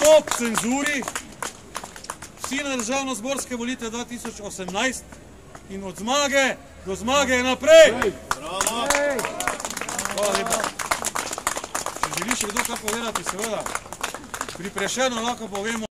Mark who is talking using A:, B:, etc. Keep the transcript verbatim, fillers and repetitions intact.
A: Stop cenzuri. Vsi na državno-zborske volitve dva tisoč osemnajst in od zmage do zmage naprej.
B: Bravo!
A: Hvala lepa. Če želi še kdo kaj povedati, seveda, pri Prešernu lahko povemo,